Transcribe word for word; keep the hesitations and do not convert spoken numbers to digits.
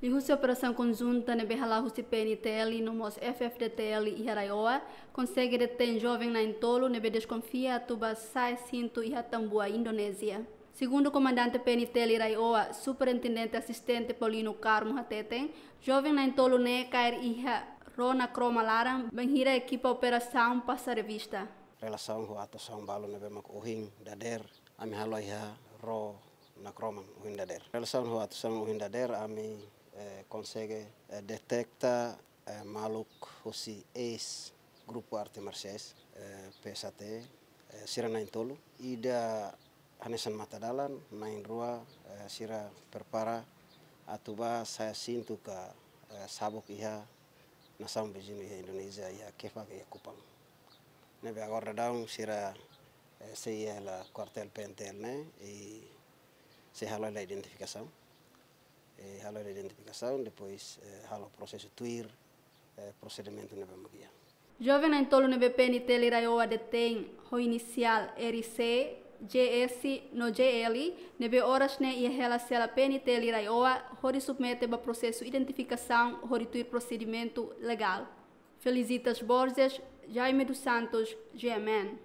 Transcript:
Liuhusi operasaun konjunta ne'ebé hala'o husi P N T L no mós F F D T L iha RAEOA, konsege detein joven na'in-tolu ne'ebé deskonfia atu bá sa'e sintu iha tambua Indonézia. Segundu Komandante P N T L RAEOA, Superintendente Asistente Paulino Carmo hateten, joven na'in-tolu ne'e kaer iha ró nakroma laran bainhira ekipa operasaun pasa revista. Relasaun ho atuasaun balu ne'ebé mak ohin dadeer ami halo iha ró nakroman ohin dadeer. Relasaun ho atuasaun ohin dadeer ami, eh, konsege, eh, deteta, eh, maluk husi eis grupu arte marsiais, eh, P S A T, eh, sira na'in-tolu. Ida hanesan matadalan, na'in-rua, eh, sira prepara atu bá sa'e sintu ka, eh, sabuk iha nasaun viziñu iha Indonézia, iha Kefak, iha Kupang. Ne'ebé agora daudaun sira, eh, sei iha hela kuartél P N T L ne'e, i sei halo hela identifikasaun. Eh, halo hela identifikasaun, depois, eh, halo prosesu tuir, eh, prosedimentu ne'ebé mak iha. Joven na'in-tolu ne'ebé P N T L RAEOA detein ho inisiál R C, J S no J L, ne'ebé oras ne'e iha hela sela P N T L RAEOA, hodi submete ba prosesu identifikasaun, hodi tuir prosedimentu legál. Felicitas Borges, Jaime dos Santos, G M N.